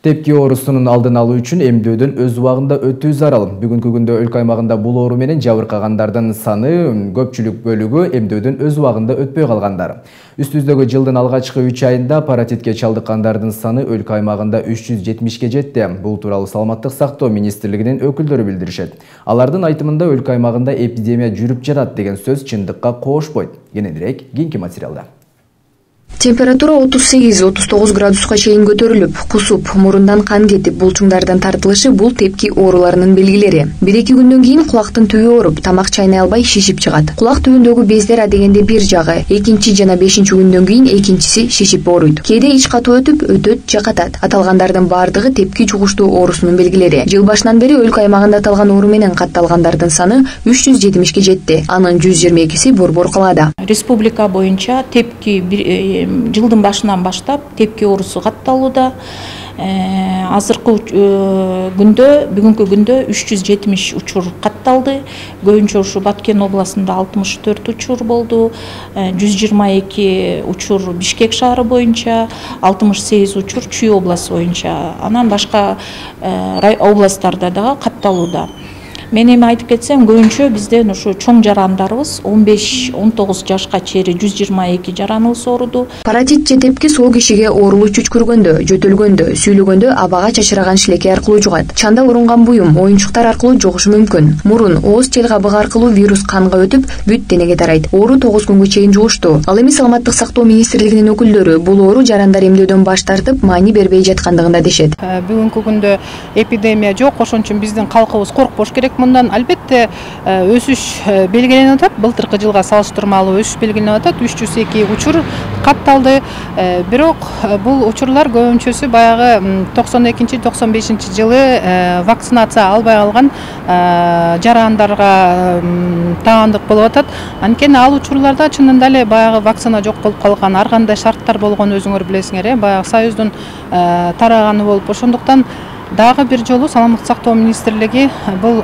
Тепки оорусунун алдын алуу үчүн эмдөөдөн өз убагында өтүү зарыл. Бүгүнкү күндө өлкө аймагында бул оору менен жабыркагандардын саны көпчүлүк бөлүгү эмдөөдөн өз убагында өтпөй калгандар. Үстүбүздөгү жылдын алгачкы 3 айында паротитке чалдыккандардын саны өлкө аймагында 370ке жетти. Бул тууралуу Саламаттык сактоо министрлигинин өкүлдөрү билдиришет. Алардын айтымында өлкө аймагында эпидемия жүрүп жатат деген сөз чындыкка коошпойт. Кененирээк кийинки материалда. Температура 38-39 градуска чейин көтөрүлүп, кусуп, мурундан кан кетип, булчуңдардын тартылышы бул тепки ооруларынын белгилери. 1-2 күндөн кийин кулактын түбү ооруп, тамак чайнай албай шишип чыгат. Кулак түбүндөгү бездер адегенде бир жагы, 2-чи жана 5-чи күндөн кийин экинчиси шишип ооруйт. Кээде ич катуу өтүп, өтөт же катат. Аталгандардын бардыгы тепки жугуштуу оорусунун белгилери. Жыл башынан бери өлкө аймагында аталган оору менен катталгандардын саны 370ке жетти. Анын 122си Борбор калаада. Республика боюнча тепки жылдын башынан баштап тепки оорусу катталууда. Азыркы бүгүнкү күндө 370 учур катталды. Көбүнчө ушу Баткен областында 64 учур болду. 122 учур Бишкек шаары боюнча, 68 учур Чүй областы боюнча. Анан башка областтарда дагы катталууда. Мен эми айтып кетсем, көбүнчө бизден ушу чоң жарандарыбыз 15-19 жашка чейин 122 жараныбыз ооруду. Паротит же тепки соо кишиге оорулуу чүчкүргөндө, жөтөлгөндө, сүйлөгөндө абага чачыраган шилекей аркылуу жугат. Чанда урунган буюм, оюнчуктар аркылуу жугушу мүмкүн. Мурун, ооз, тел кабыгы аркылуу вирус канга өтүп, бүт денеге тарайт. Оору 9 күнгө чейин жугуштуу. Ал эми Саламаттык сактоо министрлигинин өкүлдөрү бул оору жарандар эмдөөдөн баш тартып, маани бербей жаткандыгында дешет. Бүгүнкү күндө эпидемия жок, ошон үчүн биздин калкыбыз коркпош керек. Мындан албетте өсүш белгиленип атат. Былтыркы жылга салыштырмалуу өсүш белгиленип атат. 302 учур катталды. Бирок бул учурлар көбүнчөсү баягы 92-95 жылы вакцинация албай калган жарандарга таандык болуп атат. Анткени ал учурларда чынында эле баягы вакцина жок болуп калган, ар кандай шарттар болгонун өзүңөр билесиңер, баягы Союздун тараганы болуп. Ошондуктан дагы бир жолу Саламаттык сактоо министрлиги бул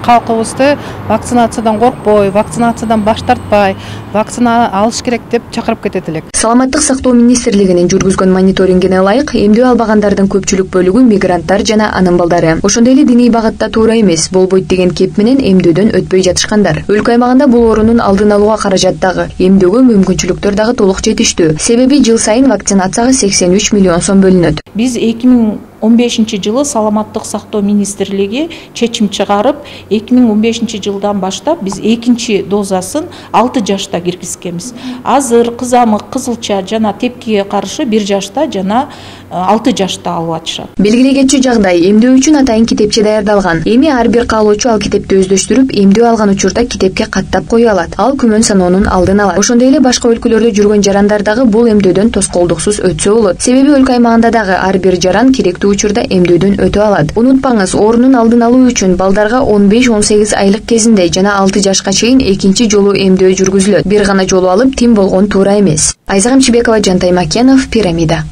калкыбызды вакцинациядан коркпой, вакцинациядан баш тартпай, вакцина алыш керек деп чакырып кетет элек. Саламаттык сактоо министрлигинин жүргүзгөн мониторингине ылайык, эмдөө албагандардын көпчүлүк бөлүгү мигранттар жана анын балдары. Ошондой эле диний багытта туура эмес, болбойт деген кеп менен эмдөөдөн өтпөй жатышкандар. Өлкө аймагында бул оорунун алдын алууга каражат дагы, эмдөөгө мүмкүнчүлүктөр дагы толук жетиштүү. Себеби жыл сайын вакцинацияга 83 миллион сом бөлүнөт. Биз 2015 жылы Саламаттык сактоо министрлиги чечим чыгарып, 2015 жылдан баштап биз экинчи дозасын 6 жашта киргизкенбиз. Азыр кызамык, кызылча жана тепкиге каршы 1 жашта жана 6 жашта алып атышат. Белгилегенчи жагдай, эмдөө үчүн атайын китепче даярдалган. Эми ар бир каалоочу ал китепти өздөштүрүп, эмдөө алган учурда китепке каттап кое алат. Ал күмөн саноонун алдын алат. Ошондой эле башка өлкөлөрдө жүргөн жарандар дагы бул эмдөөдөн тоскоолдуксуз өтсө болот. Себеби өлкө аймагында дагы ар бир жаран керектүү учурда эмдөөдөн өтө алат. Унутпаңыз, оорунун алдын алуу үчүн балдарга 15-18 айлык кезинде жана 6 жашка чейин экинчи жолу эмдөө жүргүзүлөт. Бир гана жолу алып тим болгон туура эмес. Айза Камчыбекова, Жантай Макенов, Пирамида.